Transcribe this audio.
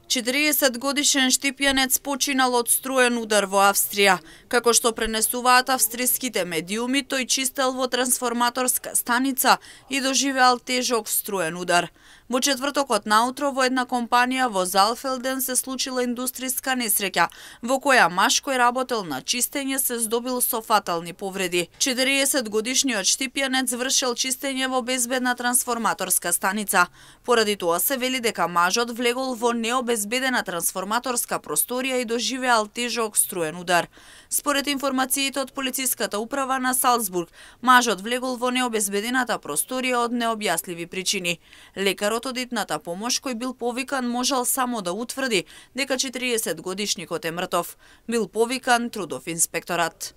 40-годишен штипјанец починал од струен удар во Австрија. Како што пренесуваат австриските медиуми, тој чистел во трансформаторска станица и доживеал тежок струен удар. Во четвртокот наутро во една компанија во Залфелден се случила индустријска несреќа, во која маж кој работел на чистење се здобил со фатални повреди. 40-годишниот штипјанец вршел чистење во безбедна трансформаторска станица. Поради тоа се вели дека мажот влегол во необезбедена трансформаторска просторија и доживеал тежок струен удар. Според информациите од полициската управа на Салцбург, мажот влегол во необезбедената просторија од необјасливи причини. Лекарот од итната помош кој бил повикан можел само да утврди дека 40-годишникот е мртов. Бил повикан трудов инспекторат.